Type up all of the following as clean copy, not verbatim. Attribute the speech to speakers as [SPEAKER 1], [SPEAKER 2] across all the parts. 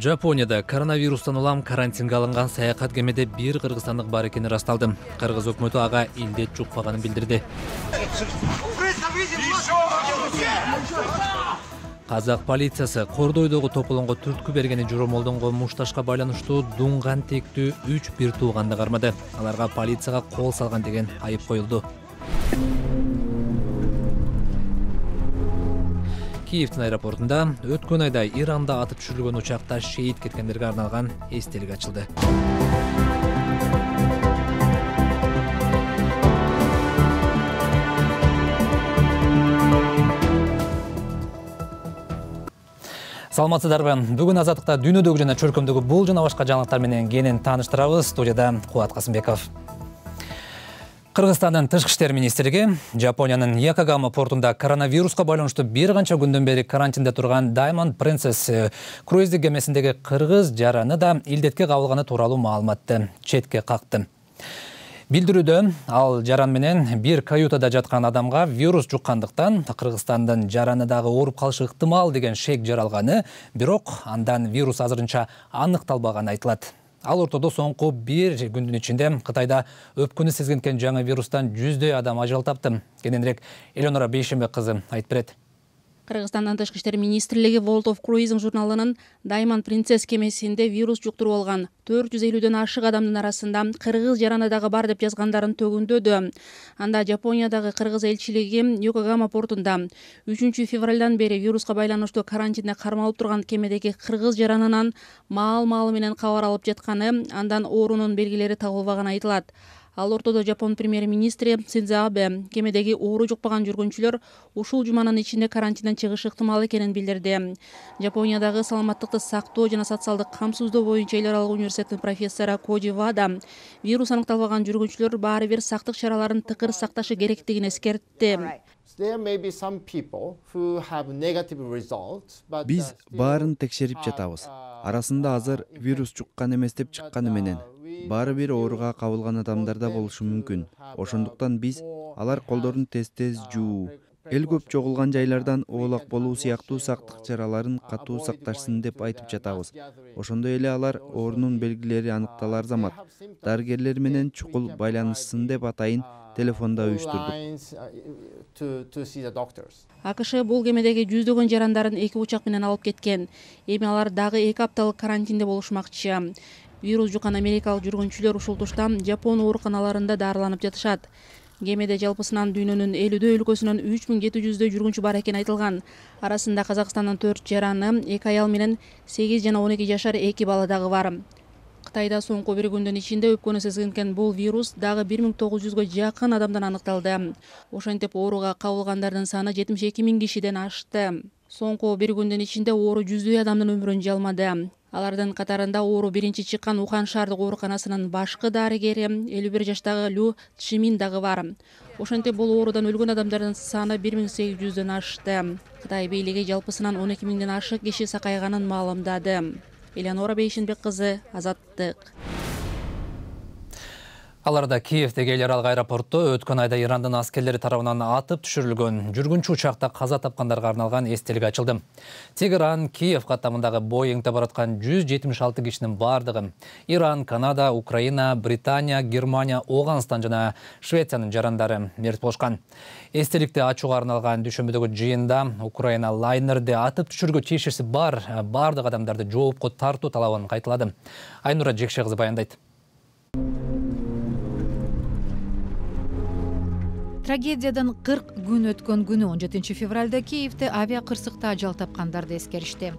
[SPEAKER 1] Жапонияда коронавирустан улам карантинге алынган саякат кемеде бир кыргызстандык бар экени ырасталды. Кыргыз өкмөтү ага илдет жукпаганын билдирди. Казак полициясы Кордойдогу тополонго түрткү бергени жоромолдонгон мушташка байланыштуу дуңган тектүү 3 бир тууганды кармады. Аларга полицияга кол салган деген айып коюлду. Киевдин аэропортунда өткөн айда Иранда атып түшүрүлгөн учакта шейит кеткендерге арналган эстелик ачылды. Саламатсыздарбы? Бүгүн Азаттыкта дүйнөдөгү жана чөлкөмдөгү бул жана башка жаңылыктар менен кенен тааныштырабыз. Студияда Кубат Касымбеков. Кыргызстандын тышкы иштер министрлиги Жапониянын Якогама портунда коронавируска байланыштуу бир канча күндөн бери карантинде турган Diamond Princess круиздик кемесиндеги кыргыз жараны да илдетке кабылганы тууралуу маалыматты четке какты. Билдирүүдө ал жаран менен бир каютада жаткан адамга вирус жуккандыктан Кыргызстандын жараны дагы ооруп калышы ыктымал деген шек жаралганы, бирок андан вирус азырынча аныкталбаганы айтылат. Ал ортодо соңку бир күндүн ичинде Кытайда өпкөнү сезген жаңы вирустан 100дөй адам ажал тапты. Кененирээк Элеонора Бейшембек кызы айтып берет.
[SPEAKER 2] Кыргызстандын тышкы иштер министрлиги World of Cruising журналынын Diamond Princess кемесинде вирус жуктуруп алган 450дөн ашык адамдын арасында кыргыз жараны дагы бар деп жазгандарын төгүндөдү. Анда Жапониядагы кыргыз элчилиги Йокогама портунда 3 февралдан бери вируска байланыштуу карантинде кармалып турган кемедеги кыргыз жаранынан маал-маалы менен кабар алып жатканы, андан оорунун белгилери табылбаганы айтылат. Ал ортодо Жапон премьер-министри Синдзо Абе кемедеги оору жукпаган жүргүнчүлөр ушул жуманын ичинде карантинден чыгышы ыктымал экенин билдирди. Жапониядагы саламаттыкты сактоо жана социалдык камсыздоо боюнча эл аралык университеттин профессору Коджи Вада вирус аныкталбаган жүргүнчүлөр баары бир сактык чараларын тыкыр сакташы керектигин эскертти.
[SPEAKER 3] Биз баарын текшерип жатабыз. Арасында азыр вирус жуккан эмес деп чыкканы менен баары бир ооруга кабылган адамдар да болушу мүмкүн. Ошондуктан биз алар колдорун тез жуу, эл көп чогулган жайлардан оолак болуу сыяктуу сактык чараларын катуу сакташсын деп айтып жатабыз. Ошондой эле алар оорунун белгилери аныкталар замат дарыгерлер менен чукул байланышсын деп атайын телефондо уюштурдук.
[SPEAKER 2] АКШ бул кемедеги жүздөгөн жарандарын 2 учак менен алып кеткен. Эми алар дагы 2 апталык карантинде болушмакчы. Вирус жуккан америкалык жүргүнчүлөр ушул тушта Жапон ооруканаларында дарыланып жатышат. Кемеде жалпысынан дүйнөнүн 50 өлкөсүнөн 3700 жүргүнчү бар экени айтылган. Арасында Казакстандын 4 жараны, 2 аял менен 8 жана 12 жашар 2 бала дагы бар. Кытайда соңку бир күндүн ичинде өпкөнү сезген бул вирус дагы 1900гө жакын адамдан аныкталды. Ошентип ооруга кабылгандардын саны 72 000 кишиден ашты. Соңку бир күндүн ичинде оору 100дөй адамдын өмүрүн жалмады. Алардын катарында оору биринчи чыккан Ухань шаардык ооруканасынын башкы дарыгери 51 жаштагы Лю Чжимин дагы бар. Ошентип бул оорудан өлгөн адамдардын саны 1800дөн ашты. Кытай бийлиги жалпысынан 12 000ден ашык киши сакайганын маалымдады. Элеонора Бейшембек кызы, Азаттык.
[SPEAKER 1] Аларда Киевдеги эл аралык аэропортто өткөн айда Ирандын аскерлери тарабынан атып түшүрүлгөн жүргүнчү учакта каза тапкандарга арналган эстелик ачылды. Тегеран, Киев каттамындагы Боингде бараткан 176 кишинин бардыгы Иран, Канада, Украина, Британия, Германия, Оганстан жана Швециянын жарандары мерт болушкан. Эстеликти ачууга арналган дүйшөмбөдөгү жыйында Украина лайнерде атып түшүрүүгө тиешеси бар бардык адамдарды жоопко тартуу талабын кайталады. Айнура Жекше кызы баяндайт.
[SPEAKER 4] Трагедиядан 40 күн өткөн күнү 17 февралда Киевде авиа кырсыкта ажал тапкандарды эскеришти.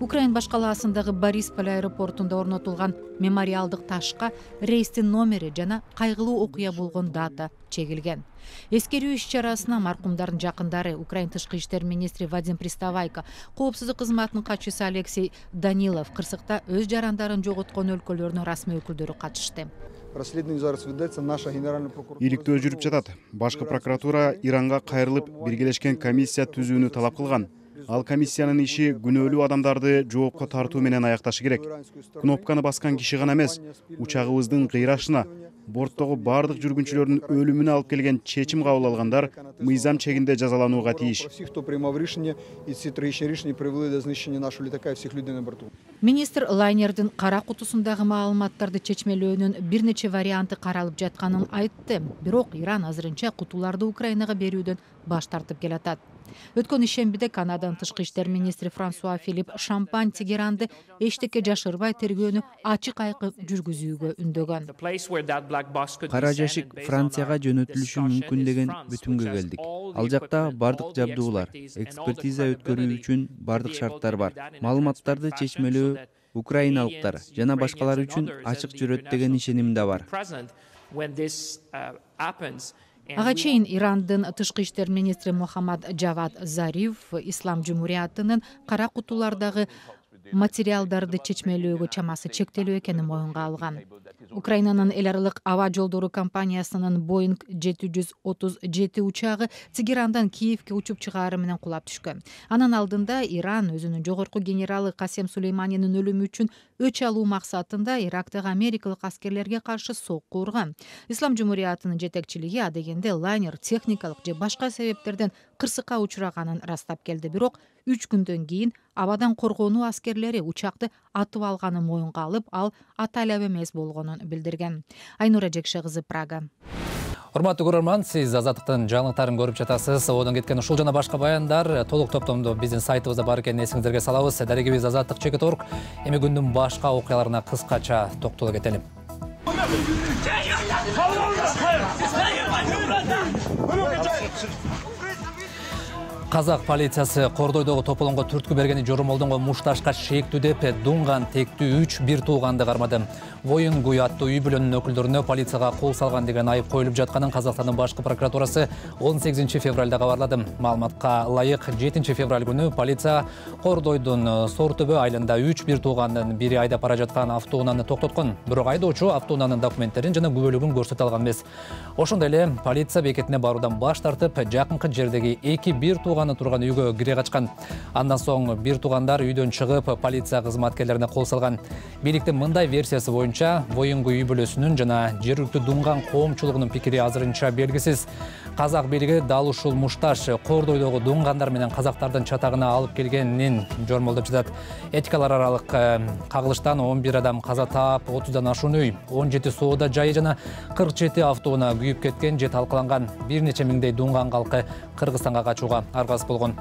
[SPEAKER 4] Украин баш калаасындагы Борисполь аэропортунда орнотулган мемориалдык ташка рейстин номери жана кайгылуу окуя болгон дата чегилген. Эскерүү иш-чарасына маркумдардын жакындары, Украин тышкы иштер министри Вадим Приставайко, коопсуздук кызматынын катчысы Алексей Данилов кырсыкта өз жарандарын жоготкон өлкөлөрдүн расмий өкүлдөрү катышты.
[SPEAKER 5] Иликтөө жүрүп жатат. Башкы прокуратура Иранга кайрылып биргелешкен комиссия түзүүнү талап кылган. Ал комиссиянын иши күнөөлүү адамдарды жоопко тартуу менен аякташы керек. Кнопканы баскан киши гана эмес, учагыбыздын кыйрашына борттогу бардык жүргүнчүлөрдүн өлүмүнө алып келген чечим кабыл алгандар мыйзам чегинде жазаланууга тийиш.
[SPEAKER 4] Министр лайнердин кара кутусундагы маалыматтарды чечмелөөнүн бир нече варианты каралып жатканын айтты. Бирок Иран азырынча кутуларды Украинага берүүдөн баш тартып келатат. Өткөн ишембиде Канаданын тышкы иштер министри Франсуа Филипп Шампань Тегеранды эчтеке жашырбай тергөөнү ачык айкын жүргүзүүгө үндөгөн.
[SPEAKER 3] Кара жашик Францияга жөнөтүлүшү мүмкүн деген бүтүмгө келдик. Ал жакта бардык жабдуулар, экспертиза өткөрүү үчүн бардык шарттар бар. Маалыматтарды чечмелөө украиналыктар жана башкалар үчүн ачык жүрөт деген ишеним да бар.
[SPEAKER 4] Ага чейин Ирандын тышкы иштер министри Мухаммад Джавад Зариф Ислам Жумуриятынын кара кутулардагы материалдарды чечмелөөгө чамасы чектелүү экенин моюнга алган. Украинанын эл аралык аба жолдору компаниясынын Boeing 737 учагы Тегерандан Киевге учуп чыгаары менен кулап түшкөн. Анын алдында Иран өзүнүн жогорку генералы Касем Сулейманинин өлүмү үчүн өч алуу максатында Ирактагы америкалык аскерлерге каршы сокку урган. Ислам Жумуриятынын жетекчилиги адегенде лайнер техникалык же башка себептерден кырсыкка учураганын ырастап келди. Бирок 3 күндөн кийин абадан коргонуу аскерлери учакты атып алганын моюнга алып, ал атайлап эмес болгонун билдирген. Айнура Жекше кызы, Прага.
[SPEAKER 1] Урматтуу көрөрман, сиз Азаттыктын жаңылыктарын көрүп жатасыз. Одон кеткен ушул жана башка баяндар толук топтомдо биздин сайтыбызда бар экенин эсиңиздерге салабыз. Дарегибиз Азаттык.org. Эми күндүн башка окуяларына кыскача токтоло кетели. Казак полициясы Кордойдогу тополонго түрткү бергени жормолдонго мушташка шектүү деп дунган тектүү 3 бир тууганды кармады. Воюнгуй аттуу үй бүлөнүн өкүлдөрүнө полицияга кол салган деген айып коюлуп жатканын Казакстандын башкы прокуратурасы 18 февралда кабарлады. Маалыматка ылайык 7 февраль күнү полиция Кордойдун Сортөбө айылында 3 бир туугандын бири айдап бара жаткан автоунааны токтоткон. Бирок айдоочу автоунаанын документтерин жана күбөлүгүн көрсөтө алган эмес. Ошондой эле полиция бекетине баруудан баш тартып, жакынкы жердеги 2 бир тууганы турган үйгө кире качкан. Андан соң бир туугандар үйдөн чыгып, полиция кызматкерлерине кол салган. Бийликтин мындай версиясы боюнча, Воюнгуй үй бүлөсүнүн жана жергиликтүү дунган коомчулугунун пикири азырынча белгисиз. Казак бийлиги дал ушул мушташ Кордойдогу дунгандар менен казактардын чатагына алып келгенин жормолдоп жатат. Этикалар аралык кагылыштан 11 адам каза таап, 30дан ашуун үй, 17 соода жайы жана 47 автоунаа күйүп кеткен же талкаланган. Бир нече миңдей дунган калкы Кыргызстанга качууга аргасыз болгон.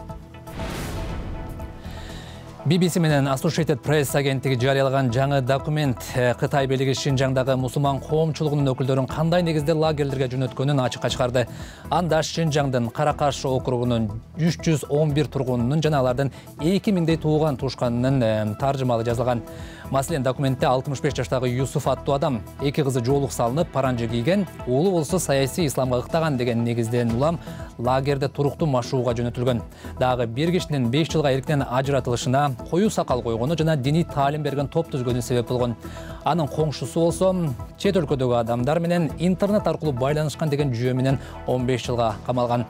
[SPEAKER 1] BBC менен Associated Press агенттиги жарыялаган жаңы документ Кытай бийлиги Шинжаңдагы мусулман коомчулугунун өкүлдөрүн кандай негизде лагерлерге жөнөткөнүн ачыкка чыгарды. Анда Шинжаңдын Каракаш округунун 311 тургунунун жана алардын 2000дей тууган тушканынын таржымалы жазылган. Маселен, документте 65 жаштагы Юсуф аттуу адам 2 кызы жоолук салынып, паранжы кийген, уулу болсо саясий исламга ыктаган деген негизден улам лагерде туруктуу машууга жөнөтүлгөн. Дагы бир кишинин 5 жылга эрктен ажыратылышына, коюу сакал койгону жана диний таалим берген топ түзгөнү себеп болгон. Анын коңшусу болсо чет өлкөдөгү адамдар менен интернет аркылуу байланышкан деген жүйө менен 15 жылга камалган.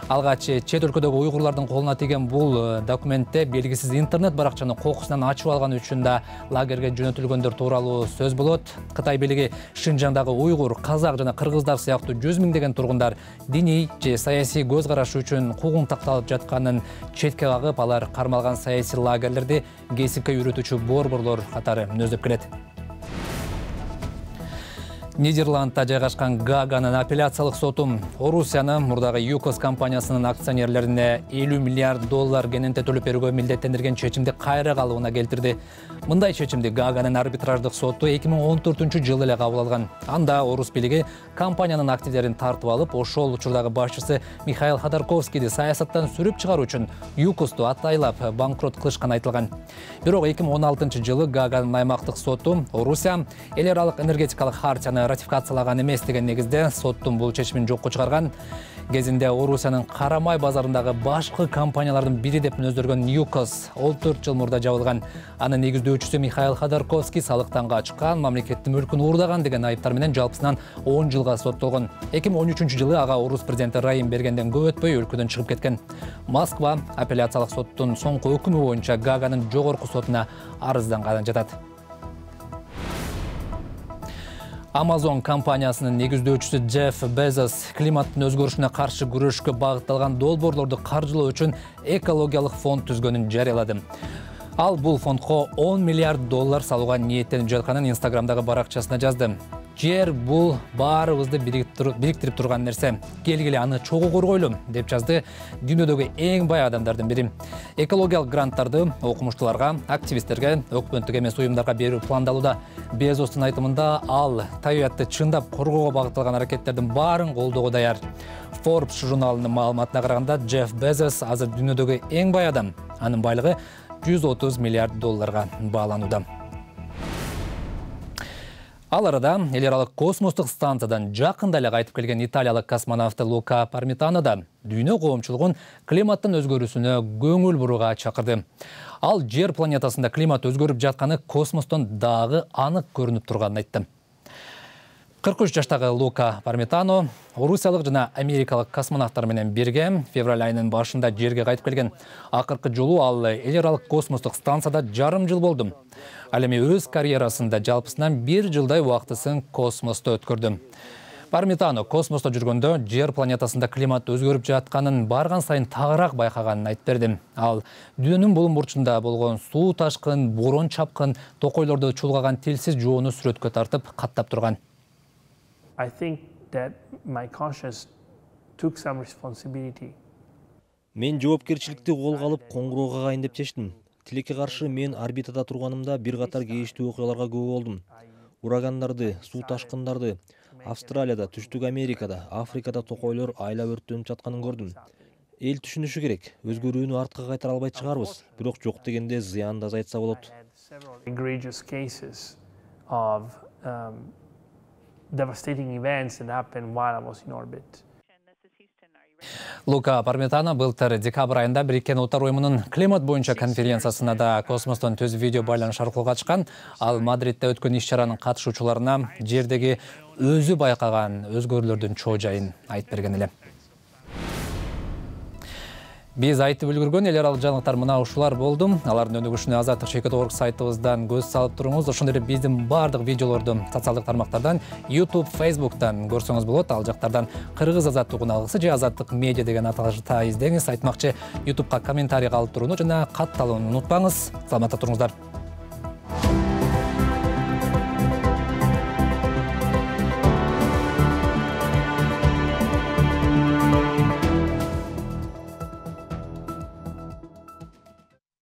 [SPEAKER 1] Алгач чет өлкөдөгү уйгурлардын колуна тийген бул документте белгисиз интернет баракчаны кокусунан ачып алганы үчүн да лагерге жөнөтүлгөндөр тууралуу сөз болот. Кытай бийлиги Шинжаңдагы уйгур, казак жана кыргыздар сыяктуу 100 миңдеген тургундар диний же саясий көз карашы үчүн куугун такталып жатканын четке кагып, алар кармалган саясий лагерлерди кесипке үйрөтүүчү борборлор катары мүнөздөп келет. Нидерландта жайгашкан Гааганын апелляциялык соту Орусияны мурдагы ЮКОС компаниясынын акционерлерине $50 миллиард кененте төлөп берүүгө милдеттендирген чечимди кайра калыбына келтирди. Мындай чечимди Гааганын арбитраждык соту 2014-жылы эле кабыл алган. Анда Орус бийлиги компаниянын активдерин тартып алып, ошол учурдагы башчысы Михаил Ходорковскийди саясаттан сүрүп чыгаруу үчүн ЮКОСту атайлап банкрот кылышканы айтылган. Бирок 2016-жылы Гааганын аймактык соту Орусия эл аралык энергетикалык хартияны ратификациялаган эмес деген негизде соттун бул чечимин жокко чыгарган. Кезинде Орусиянын Карамай базарындагы башкы компаниялардын бири деп мүнөздөргөн ЮКОС 14 жыл мурда жабылган. Анын негиздөөчүсү Михаил Ходорковский салыктан качкан, мамлекеттин мүлкүн уурдаган деген айыптар менен жалпысынан 10 жылга соттолгон. 2013-жылы ага Орус президенти Райым бергенден көп өтпөй өлкөдөн чыгып кеткен. Москва апелляциялык соттун соңку өкүмү боюнча Гааганын жогорку сотуна арызданганын жатат. Amazon компаниясынын негиздөөчүсү Джефф Безос климаттын өзгөрүшүнө каршы күрөшкө багытталган долбоорлорду каржылоо үчүн экологиялык фонд түзгөнүн жарыялады. Ал бул фондко $10 миллиард салууга ниеттенип жатканын Инстаграмдагы баракчасына жазды. Жер бул баарыбызды бириктирип турган нерсе. Келгиле аны чогуу коргойлу, деп жазды дүйнөдөгү эң бай адамдардын бири. Экологиялык гранттарды окумуштууларга, активисттерге, өкмөттүк эмес уюмдарга берүү пландалууда. Безостун айтымында ал табиатты чындап коргоого багытталган аракеттердин баарын колдоого даяр. Forbes журналынын маалыматына караганда, Джефф Безос азыр дүйнөдөгү эң бай адам. Анын байлыгы $130 миллиард бааланууда. Ал арада эл аралык космостук станциядан жакында эле кайтып келген италиялык космонавт Лука Пармитано да дүйнө коомчулугун климаттын өзгөрүүсүнө көңүл бурууга чакырды. Ал Жер планетасында климат өзгөрүп жатканы космостон дагы анык көрүнүп турганын айтты. 43 жаштагы Лука Пармитано орусиялык жана америкалык космонавттар менен бирге февраль айынын башында Жерге кайтып келген. Акыркы жолу ал эл аралык космостук станцияда жарым жыл болду. Ал эми өз карьерасында жалпысынан 1 жылдай убактысын космосто өткөрдү. Пармитано космосто жүргөндө Жер планетасында климат өзгөрүп жатканын барган сайын тагыраак байкаганын айтып берди. Ал дүйнөнүн булуң бурчунда болгон суу ташкын, борон чапкын, токойлорду чулгаган тилсиз жоону сүрөткө тартып каттап турган.
[SPEAKER 6] I think that my conscience took some responsibility.
[SPEAKER 7] Мен жоопкерчиликти колго алып коңгуроо кагайын деп чечтим. Тилекке каршы мен орбитада турганымда бир катар кейиштүү окуяларга күбө болдум. Урагандарды, суу ташкындарды, Австралияда, Түштүк Америкада, Африкада токойлор айлап өрттөнүп жатканын көрдүм. Эл түшүнүшү керек. Өзгөрүүнү артка кайтара албай чыгарбыз. Бирок жок дегенде зыянды азайтса болот.
[SPEAKER 6] Egregious cases of devastating events that happened while I was in orbit.
[SPEAKER 1] Лука Пармитано былтыр декабрь айында Бириккен Улуттар уюмунун климат боюнча конференциясына да космостон түз видео байланыш аркылуу катышкан. Ал Мадридде өткөн иш-чаранын катышуучуларына жердеги өзү байкаган өзгөрүүлөрдүн чоо жайын айтып берген эле. Биз айтып үлгүргөн эл аралык жаңылыктар мына ушулар болду. Алардын өнүгүшүнө Azadtық.org сайтыбыздан көз салып туруңуз. Ошондой эле биздин бардык видеолорду социалдык тармактардан, YouTube, Facebook'тан көрсөңүз болот. Ал жактардан Кыргыз Азаттык алгысы же Азаттык медиа деген аталышта издеңиз. Айтмакчы, YouTube'ка комментарий калып турууну жана катталууну унутпаңыз. Саламатта туруңуздар.